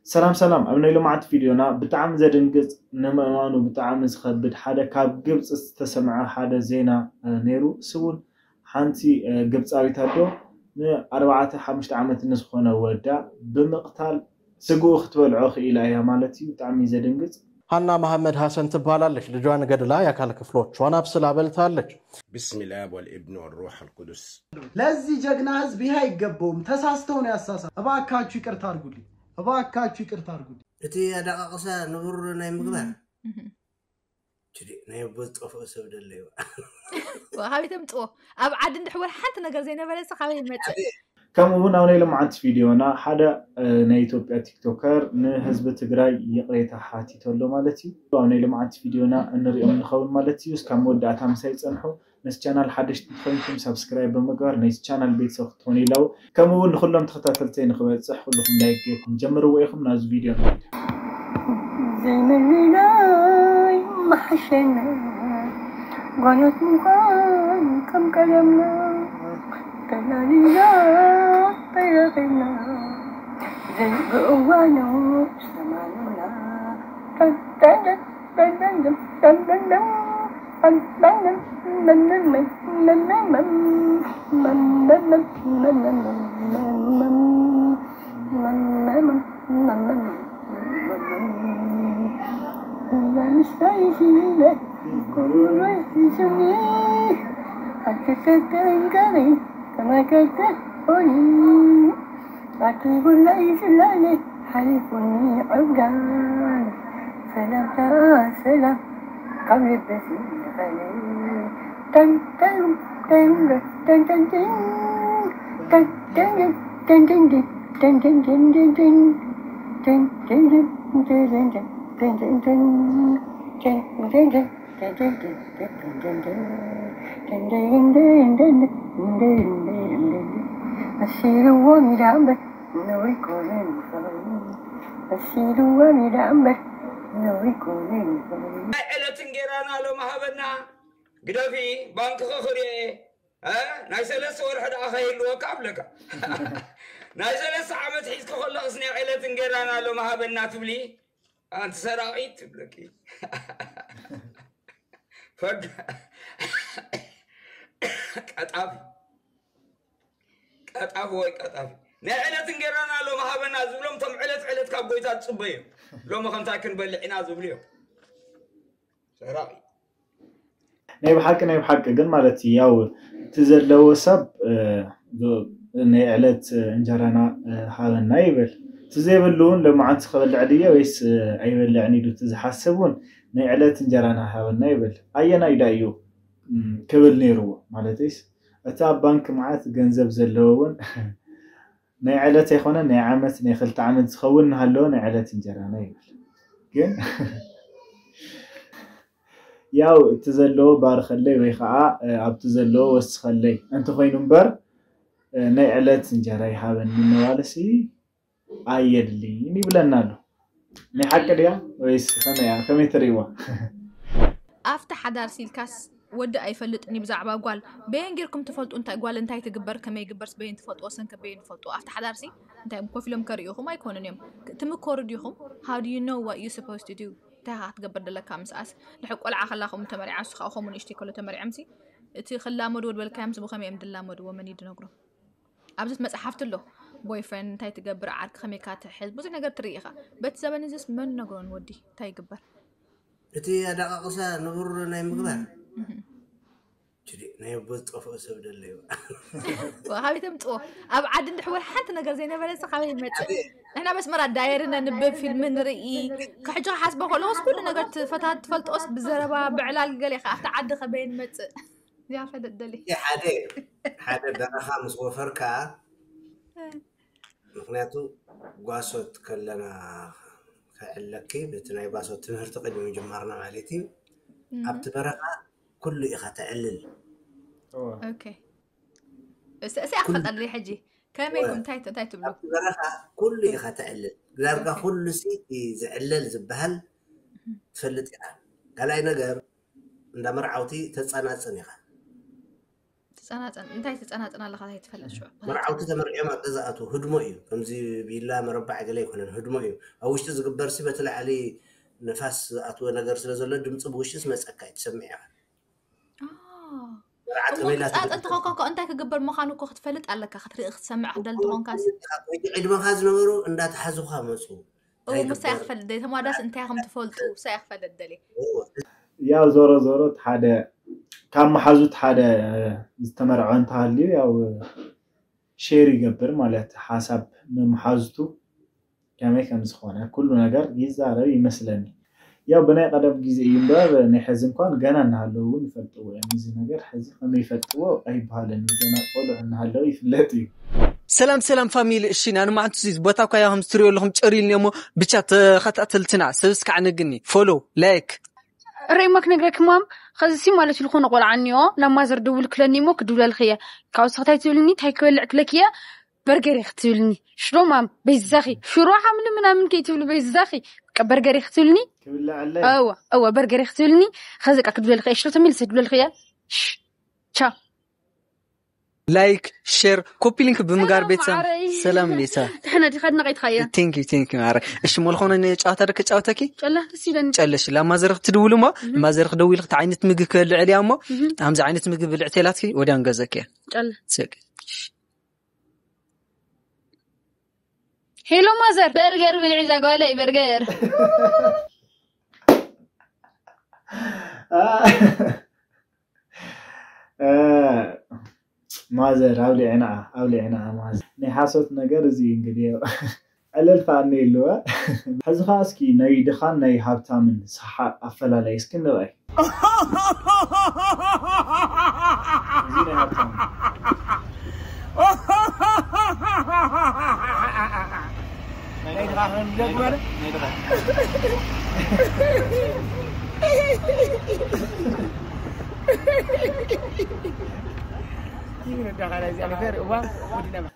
ሰላም ሰላም፣ ኣብ ናይ ሎማዓንቲ ቪድዮና ብጣዕሚ ዘድንግጽ፣ ንምእማኑ ብጣዕሚ ዝኸብድ ሓደ ካብ ግብጺ ዝተሰምዐ ሓደ ዜና ነይሩ። እሱ እውን ሓንቲ ግብጻዊት ኣዶ ንኣርባዕተ ሓሙሽተ ዓመት ንዝኾነ ወዳ ብምቕታል ስግኡ ክትበልዖ ክኢላ እያ ማለት እዩ። ብጣዕሚ ዘድንግጽ። ሃና መሐመድ ሐሰን ትባላለች። ልጇን ገድላ የአካል ክፍሎቿን አብስላ በልታለች። بسم الآب والابن والروح القدس ለዚህ ጀግና ህዝብ ይህ አይገባውም። ተሳስተው ነው ያሳሳ። እባካችሁ ይቅርታ አድርጉልኝ። እባካችሁ ይቅርታ አድርጉልኝ። እቲ ኣዳቃቅሳ ንቡር ናይ ምግባር ችዲ ናይ ኣቦ ዝጠፍኦ ሰብ ደለዩ። ካበይ ተምፅዎ? ኣብ ዓዲ እንድሕር ሓንቲ ነገር ዘይነበረ ሲ ካበይ ይመፅእ? ከምኡ እውን ኣብ ናይ ልምዓት ቪድዮና ሓደ ናይ ኢትዮጵያ ቲክቶከር ንህዝቢ ትግራይ ይቕሬታ ሓቲቶ ኣሎ ማለት እዩ። ኣብ ናይ ልምዓት ቪድዮና እንሪኦም ንኸውን ማለት እዩ። እስካብ መወዳእታ ምሳይ ፀንሑ። ነዚ ቻናል ሓደሽቲ እንተኮይንኩም ሳብስክራይብ ብምግባር ነዚ ቻናል ቤተሰብ ክትኾኑ ኢላው። ከምኡ እውን ንኩሎም ተኸታተልተይ ንክበፅሕ ኩልኩም ላይክ ጌርኩም ጀምርዎ ኢኹም። ናብዚ ቪድዮ ንኸይድ። ዘይምልላይ መሓሸና ጓኖት ምዃን ከም ቀደምና ተላሊና ተረኺብና ዘይብእዋኑ ሰማኑና መሲልዎም ኢዳ እምበር ነውሪ ኮነ መሲልዎም ኢዳ እምበር ነውሪ ኮነ። ናይ ዕለት እንጌራና ሎሚ ሃበና። ግደፊ፣ ባንክኺ ክርእየ። እ? ናይ ሰለስተ ወርሒ ደኣ ከይህልወካ ኣብለካ። ናይ ሰለስተ ዓመት ሒዝኪ ከለኽስ ናይ ዕለት እንጌራና ሎሚ ሃበና ትብሊ? ኣንቲ ሰራቒት ትብለኪ። ፈግ ቀጣፊ ቀጣፊ ወይ ቀጣፊ ናይ ዕለት እንጌራና ሎሚ ሃበና ዝብሎም ቶም ዕለት ዕለት ካብ ጎይታ ዝፅበዩ ሎሚ ከምታይ ክንበልዕ ኢና ዝብሉ እዮም። ሰራቒ ናይ ብሓቂ ናይ ብሓቂ ግን ማለት እዩ ያው እቲ ዘለዎ ሰብ ናይ ዕለት እንጀራና ሃበና ይብል። እቲ ዘይብሉ እውን ሎማዓንቲ ክበልዕ ድየ ወይስ ኣይበልዕን ኢሉ እቲ ዝሓስብ እውን ናይ ዕለት እንጀራና ሃበና ይብል። ኣየናይ ዳ እዩ ክብል ነይርዎ? ማለተይስ እቲ ኣብ ባንክ መዓት ገንዘብ ዘለዎ እውን ናይ ዕለት ኣይኮነ ናይ ዓመት ናይ ክልተ ዓመት ዝኸውን እናሃለወ ናይ ዕለት እንጀራና ይብል። ግን ያው እቲ ዘለዎ ባርኸለይ ወይ ከዓ ኣብቲ ዘለዎ ወስኸለይ እንተኮይኑ እምበር ናይ ዕለት እንጀራ ይሃበኒ ምባልሲ ኣየድልይን ይብለና ኣሎ። ናይ ሓቂ ድያ ወይስ ከመይ እያ? ከመይ ትርእይዋ? ኣብቲ ሓዳር ሲልካስ ወዲ ኣይፈልጥን እዩ ብዛዕባ ጓል በየን ጌርኩም ትፈልጡ እንታይ ጓል እንታይ ትግበር ከመይ ግበርስ በየን ትፈልጥዎ ሰንከ በየን ትፈልጥዎ ኣብቲ ሓዳርሲ እንታይ እዮም ኮፍ ኢሎም ከርእዩኹም ኣይኮኑን እዮም ትምኮሩ ዲኹም how do you know what you supposed to do እንታይ ኢኻ ክትገብር ደለካ ምስኣስ ድሕር ቆልዓ ከላ ከምኡ ተመሪዓ ንሱ ከዓ ከምኡ ንእሽተይ ከሎ ተመሪዖምሲ እቲ ክላመድዎ ድበልካዮምስ ብኸመይ እዮም ድላመድዎ መን እዩ ድነግሮም ኣብዚ መፅሓፍቲ ኣሎ boyfriend እንታይ ትገብር ዓርኪ ከመይካ ትሕዝ ብዙሕ ነገር ትርኢ ኢኻ በቲ ዘበን እዚስ መን ነግሮን ወዲ እንታይ ይግበር እቲ ኣዳቃቅሳ ንቡር ናይ ምግባር ችዲ ናይ ኣቦ ዝጠፍኦ ሰብ ደለዩ ካበይ ተምፅዎ ኣብ ዓዲ እንድሕወር ሓንቲ ነገር ዘይነበረ ሲ ካበይ ይመፅእ ንሕና በስመራ ዳየሪ ነንብብ ፊልሚ ንርኢ ክሕጂ ክሓስቦ ከለኩስ ኩሉ ነገር ትፈታት ትፈልጦስ ብዘረባ ብዕላል ገለ ኢኻ ኣብቲ ዓዲ ከበይ ንመፅእ እዚኣ ፈለጥ ደሊ ሓደ ሓደ በረኻ ምስ ወፈርካ ምክንያቱ ጓሶት ከለና ከዕለኪ በቲ ናይ ጓሶት ትምህርቲ ቅድሚ ምጅማርና ማለት እዩ ኣብቲ በረኻ ኩሉ ኢኻ ተዕልል እዚኣ ክፈልጠልኒ ሕጂ ከመይ እንታይ እንታይ ትብሉ በረኻ ኩሉ ኢኻ ተዕልል ዳርጋ ኩሉ ሲ ዝዕለል ዝበሃል ትፈልጥ ኢኻ ካልኣይ ነገር እንዳ መርዓውቲ ተፀናፅን ኢኻ ጸናጸን እንታይ ትጸናጸን ኣለኻ እንታይ ትፈልጥ ሽዑ መርዓውቲ ተመርዕዮም ኣብ ገዛ ኣትዉ ህድሞ እዩ። ከምዚ ቢላ መረባዕ ገለ ኣይኮነን፣ ህድሞ እዩ። ኣብ ውሽጢ ዝግበር ሲ በቲ ላዕሊ ንፋስ ዝኣትወ ነገር ስለ ዘሎ ድምፂ ብውሽጢ ዝመፀካ እዩ ትሰምዕ ኢኻ። መርዓ ተመይላ ጻጸ እንተኾንካ እኮ እንታይ ክግበር ምዃኑ እኮ ክትፈልጥ ኣለካ ክትርኢ ክትሰምዕ ክደል እንተኾንካ ወይ ዕድመኻ ዝነበሩ እንዳተሓዙኻ መፁ። እንታይ ምሳይ ይግበር? ክፈልጥ ደሊ ተማዳስ እንታይ ከም ትፈልጡ ምሳይ ክፈልጥ ደሊ ያው ዞሮ ዞሮ ሓደ ካብ መሓዙት ሓደ ዝተመርዐ እንተሃልዩ ያው ሼር ይገብር ማለት ሓሳብ ንመሓዙቱ ከመይ ከም ዝኾነ ኩሉ ነገር ይዛረብ ይመስለኒ። ያው ብናይ ቀደም ግዜ እዩ እምበር ናይ ሕዚ እንኳን ገና እናሃለዉ እውን ይፈልጥዎ እዮም። እዚ ነገር ሕዚ ከመይ ይፈልጥዎ ኣይበሃልን እዩ። ገና ቆልዑ እናሃለዉ ይፍለጥ እዩ። ሰላም ሰላም ፋሚሊ። እሺ ናንማዓንቱ እዚ ቦታ እኳ ያው ከም ትሪኦ ኣለኹም ጨሪልኒ እሞ ብቻ ተኸታተልትና ሰብስካዕ ነግኒ ፎሎ ላይክ ርእማ ክነግረክ ማም ከዚ ሲ ማለት ዝኾነ ቆልዓ እኒኦ ናብ ማዘር ደውል ክለኒ እሞ ክድውለልክ እየ ካብ ስኽታይ ትብልኒ ታይ ክበልዕ ክለክ እየ በርገር ክትብልኒ ሽሮ ማም በይዛኺ ሽሮ ሓምሊ ምናምን ከይትብሉ በይዛኺ በርገር ክትብልኒ ክብልዐለይ እወ እወ በርገር ክትብልኒ ከዚ ቃ ክድውለልክ እየ ሽሮ ተመልሰ ክድውለልክ እየ ቻ ላይክ ሼር ኮፒ ሊንክ ብምጋር ቤተሰብ ማዕረይ። ሰላም ቤተሰብ ድሕነ ዲኻ ድነቀይትኻያ ቴንክ ዩ ቴንክ ዩ ማረ። እሺ ሞልኾነ ንጨዋታ ዶ ክጫወተኪ? ጨላ ደስ ይለኒ ጨለሽ ላማዘር ክትድውሉ እሞ ማዘር ክደውል ክቲ ዓይነት ምግቢ ክበልዕ እያ እሞ ከምዚ ዓይነት ምግቢ ብልዕት የላትኪ ወዲያ ንገዘኪ እያ ጨላ ስቅ ሄሎ ማዘር በርገር ብልዒ ዛጓለይ በርገር ማዘር ኣብሊዕና ኣብሊዕና ማዘር ናይ ሓሶት ነገር እዚ እንግዲህ ዕለል ከኣኒ የለዋ። ሕዚ ኸዓ እስኪ ናይ ድኻን ናይ ሃብታምን ሰሓቕ ኣፈላላይ እስኪ ንርኣይ። እዚ ናይ ሃብታም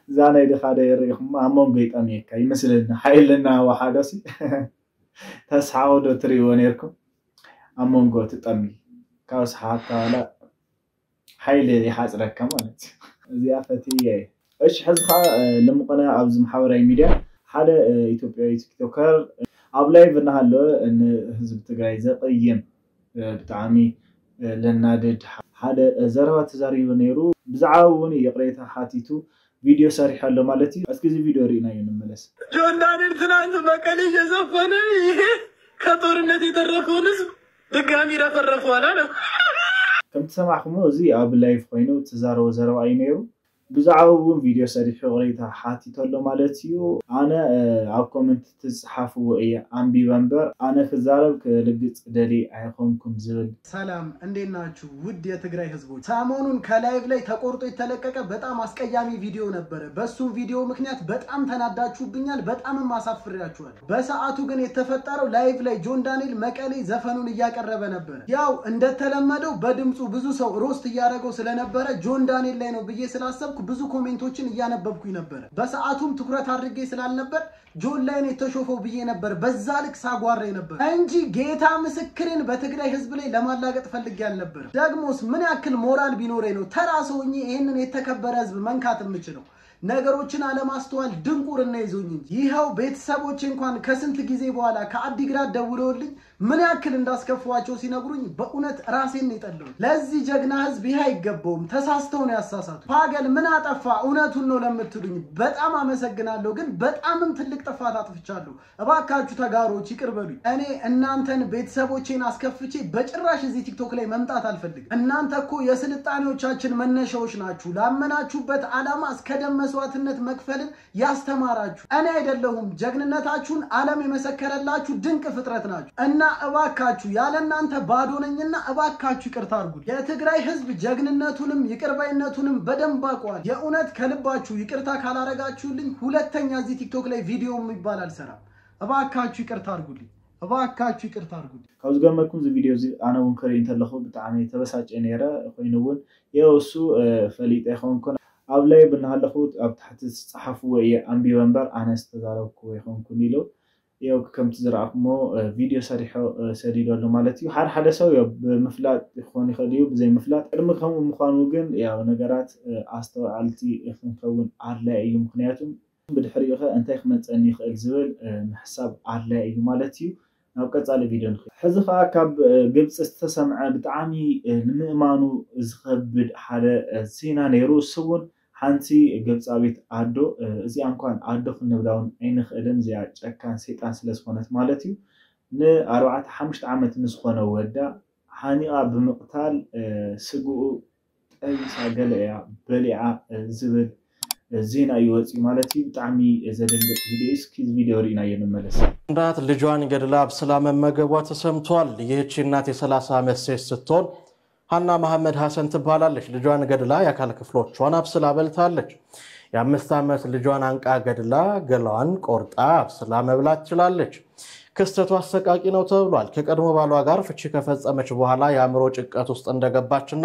እዛ ናይ ድኻ ዶ የርእኹም ኣብ መንጎ ይጠምየካ ይመስለኒ ሓይልና ወሓዶ ሲ ተስሓቑ ዶ ትርእይዎ ነርኩም ኣብ መንጎ ትጠሚ ካብ ሰሓቕካ ዋላ ሓይሊ ይሓፅረካ ማለት እዩ እዚኣ ፈትየ እየ እሺ ሕዚ ከዓ ልምቕና ኣብዚ ማሕበራዊ ሚድያ ሓደ ኢትዮጵያዊ ቲክቶከር ኣብ ላይቭ እናሃለወ ንህዝቢ ትግራይ ዘቕይም ብጣዕሚ ለናድድ ሓደ ዘረባ ተዛሪቡ ነይሩ ብዛዕባ እውን ይቕሬታ ሓቲቱ ቪድዮ ሰሪሑ ኣሎ ማለት እዩ እስኪ እዚ ቪድዮ ርኢናዮ ንመለስ ጆን ዳንኤል ትናንት መቀሌ እየዘፈነ ይሄ ከጦርነት የተረፈውን ህዝብ ድጋሚ ረፈረፈዋል አለ። ከምቲ ሰማዕኩሞ እዚ ኣብ ላይቭ ኮይኑ ትዛረቦ ዘረባ እዩ ነይሩ ብዛዕባኡ እውን ቪድዮ ሰሪሑ ይቕሬታ ሓቲቱ ኣሎ ማለት እዩ ኣነ ኣብ ኮመንት ትፅሓፍዎ እየ ኣንቢበ እምበር ኣነ ክዛረብ ክልግፅ ደልየ ኣይኾንኩን ዝብል ሰላም እንዴት ናችሁ ውድ የትግራይ ህዝቦች ሰሞኑን ከላይቭ ላይ ተቆርጦ የተለቀቀ በጣም አስቀያሚ ቪዲዮ ነበረ በሱም ቪዲዮ ምክንያት በጣም ተናዳችሁብኛል በጣምም አሳፍሬያችኋል በሰዓቱ ግን የተፈጠረው ላይቭ ላይ ጆን ዳንኤል መቀሌ ዘፈኑን እያቀረበ ነበረ ያው እንደተለመደው በድምፁ ብዙ ሰው ሮስት እያደረገው ስለነበረ ጆን ዳንኤል ላይ ነው ብዬ ስላሰብኩ ብዙ ኮሜንቶችን እያነበብኩኝ ነበረ በሰዓቱም ትኩረት አድርጌ ስላልነበር ጆን ላይ ነው የተሾፈው ብዬ ነበር በዛ ልክ ሳጓራ ነበር እንጂ ጌታ ምስክሬን በትግራይ ህዝብ ላይ ለማላገጥ ፈልጌ አልነበረም። ደግሞስ ምን ያክል ሞራል ቢኖረኝ ነው ተራ ሰው ሆኜ ይህንን የተከበረ ህዝብ መንካት የምችለው? ነገሮችን አለማስተዋል ድንቁርና ይዞኝ እንጂ። ይኸው ቤተሰቦቼ እንኳን ከስንት ጊዜ በኋላ ከአዲግራት ደውለውልኝ ምን ያክል እንዳስከፋዋቸው ሲነግሩኝ በእውነት ራሴን ነው የጠላሁት። ለዚህ ጀግና ህዝብ ይህ አይገባውም፣ ተሳስተው ነው ያሳሳቱት። ፋገል ምን አጠፋ እውነቱን ነው ለምትሉኝ በጣም አመሰግናለሁ፣ ግን በጣምም ትልቅ ጥፋት አጥፍቻለሁ። እባካችሁ ተጋሮች ይቅር በሉኝ። እኔ እናንተን ቤተሰቦቼን አስከፍቼ በጭራሽ እዚህ ቲክቶክ ላይ መምጣት አልፈልግም። እናንተ እኮ የስልጣኔዎቻችን መነሻዎች ናችሁ። ላመናችሁበት ዓላማ እስከ ደም መስዋዕትነት መክፈልን ያስተማራችሁ እኔ አይደለሁም። ጀግንነታችሁን ዓለም የመሰከረላችሁ ድንቅ ፍጥረት ናችሁ እና እባካችሁ ያለ እናንተ ባዶ ነኝና እባካችሁ ይቅርታ አድርጉልኝ። የትግራይ ህዝብ ጀግንነቱንም ይቅርባይነቱንም በደንብ አውቀዋል። የእውነት ከልባችሁ ይቅርታ ካላረጋችሁልኝ ሁለተኛ እዚህ ቲክቶክ ላይ ቪዲዮ የሚባል አልሰራም። እባካችሁ ይቅርታ አድርጉልኝ። እባካችሁ ይቅርታ አድርጉልኝ። ካብ ዝገርመኩም እዚ ቪድዮ እዚ ኣነ እውን ክርኢ እንተለኹ ብጣዕሚ ተበሳጭ ነይረ ኮይኑ እውን የው እሱ ፈሊጠ ይኸውን ኮነ ኣብ ላይቭ እናሃለኹ ኣብ ታሕቲ ዝፀሓፍዎ እየ ኣንቢበ እምበር ኣነ ዝተዛረብክዎ ይኾንኩን ኢሉ ያው ከምቲ ዝረኣኹሞ ቪድዮ ሰሪሖ ሰዲዶ ኣሎ ማለት እዩ። ሓደ ሓደ ሰብ ያው ብምፍላጥ ክኾን ይኽእል እዩ፣ ብዘይ ምፍላጥ። ቅድሚ ከምኡ ምዃኑ ግን ያው ነገራት ኣስተውዓልቲ ክንከውን ኣድላይ እዩ። ምክንያቱም ብድሕሪኡ ከ እንታይ ክመፀኒ ይኽእል ዝብል ምሕሳብ ኣድላይ እዩ ማለት እዩ። ናብ ቀፃሊ ቪድዮ ንኽእል። ሕዚ ከዓ ካብ ግብፂ ዝተሰምዐ ብጣዕሚ ንምእማኑ ዝኸብድ ሓደ ዜና ነይሩ። እሱ እውን ሓንቲ ግብፃዊት ኣዶ፣ እዚኣ እንኳን ኣዶ ክንብላ እውን ኣይንኽእልን፣ እዚኣ ጨካን ሰይጣን ስለ ዝኾነት ማለት እዩ። ንኣርባዕተ ሓሙሽተ ዓመት ንዝኾነ ወዳ ሓኒቓ ብምቕታል ስግኡ ጠቢሳ ገለ እያ በሊዓ ዝብል ዜና እዩ ወፂኡ ማለት እዩ። ብጣዕሚ ዘደንግጥ ቪድዮ እዩ። እስኪ እዚ ቪድዮ ርኢናዮ ንመለስ። እናት ልጇን ገድላ አብስላ መመገቧ ተሰምቷል። ይህቺ እናት የ30 ዓመት ሴት ስትሆን ሀና መሐመድ ሐሰን ትባላለች። ልጇን ገድላ የአካል ክፍሎቿን አብስላ በልታለች። የ5 ዓመት ልጇን አንቃ ገድላ ገላዋን ቆርጣ አብስላ መብላት ችላለች። ክስተቱ አሰቃቂ ነው ተብሏል። ከቀድሞ ባሏ ጋር ፍቺ ከፈጸመች በኋላ የአእምሮ ጭንቀት ውስጥ እንደገባችና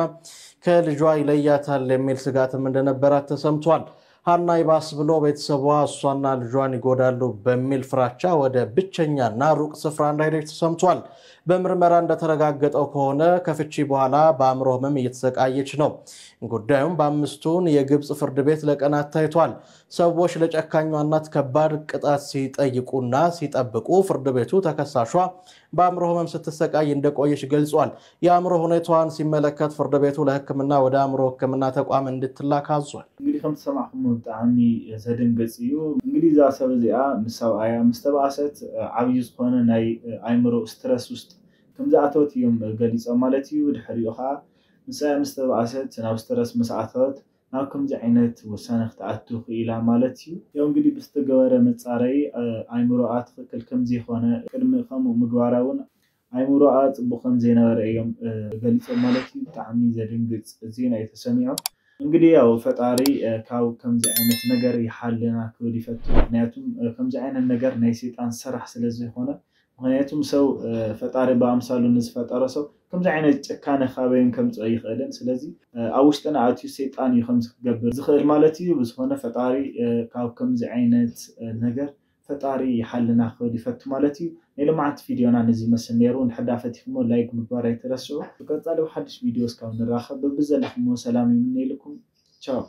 ከልጇ ይለያታል የሚል ስጋትም እንደነበራት ተሰምቷል። ሀና ይባስ ብሎ ቤተሰቧ እሷና ልጇን ይጎዳሉ በሚል ፍራቻ ወደ ብቸኛና ሩቅ ስፍራ እንደሄደች ተሰምቷል። በምርመራ እንደተረጋገጠው ከሆነ ከፍቺ በኋላ በአእምሮ ህመም እየተሰቃየች ነው። ጉዳዩም በአምስቱን የግብፅ ፍርድ ቤት ለቀናት ታይቷል። ሰዎች ለጨካኟ እናት ከባድ ቅጣት ሲጠይቁና ሲጠብቁ ፍርድ ቤቱ ተከሳሿ በአእምሮ ህመም ስትሰቃይ እንደቆየች ገልጿል። የአእምሮ ሁኔታዋን ሲመለከት ፍርድ ቤቱ ለሕክምና ወደ አእምሮ ሕክምና ተቋም እንድትላክ አዟል። እንግዲህ ከም ዝሰማዕኹሞ ብጣዕሚ ዘደንገፅ እዩ። እንግዲህ እዛ ሰብ እዚኣ ምስ ሰብኣያ ምስ ተባእሰት ዓብዪ ዝኾነ ናይ ኣይምሮ ስትረስ ውስጥ ከም ዝኣተወት እዮም ገሊፆም ማለት እዩ። ድሕሪኡ ከዓ ምስ ሰብኣያ ምስ ተባእሰት ናብ ስትረስ ምስ ኣተወት ናብ ከምዚ ዓይነት ውሳነ ክትኣቱ ክኢላ ማለት እዩ። ያው እንግዲህ ብዝተገበረ መፃረይ ኣይምሮኣ ትኽክል ከም ዘይኮነ ቅድሚ ከምኡ ምግባራ እውን ኣይምሮኣ ፅቡቅ ከም ዘይነበረ እዮም ገሊፆም ማለት እዩ። ብጣዕሚ ዘድንግፅ ዜና እዩ ተሰሚዑ። እንግዲህ ያው ፈጣሪ ካብ ከምዚ ዓይነት ነገር ይሓልና ክብል ይፈቱ። ምክንያቱም ከምዚ ዓይነት ነገር ናይ ሰይጣን ስራሕ ስለ ዝኾነ ምክንያቱም ሰው ፈጣሪ ብኣምሳሉ ንዝፈጠረ ሰው ከምዚ ዓይነት ጭካነ ካበይን ከምፅኦ ይኽእልን። ስለዚ ኣብ ውሽጥና ኣትዩ ሰይጣን እዩ ከምዚ ክገብር ዝኽእል ማለት እዩ። ብዝኾነ ፈጣሪ ካብ ከምዚ ዓይነት ነገር ፈጣሪ ይሓልና ክብል ይፈቱ ማለት እዩ። ናይ ሎማዓንቲ ቪድዮና ነዚ ይመስል ነይሩ። እንድሕር ዳ ፈቲኹሞ ላይክ ምግባር ኣይትረስዑ። ብቀፃሊ ብሓድሽ ቪድዮ እስካብ ንራኸብ በብዘለኹሞ ሰላም ይምነየልኩም። ቻው።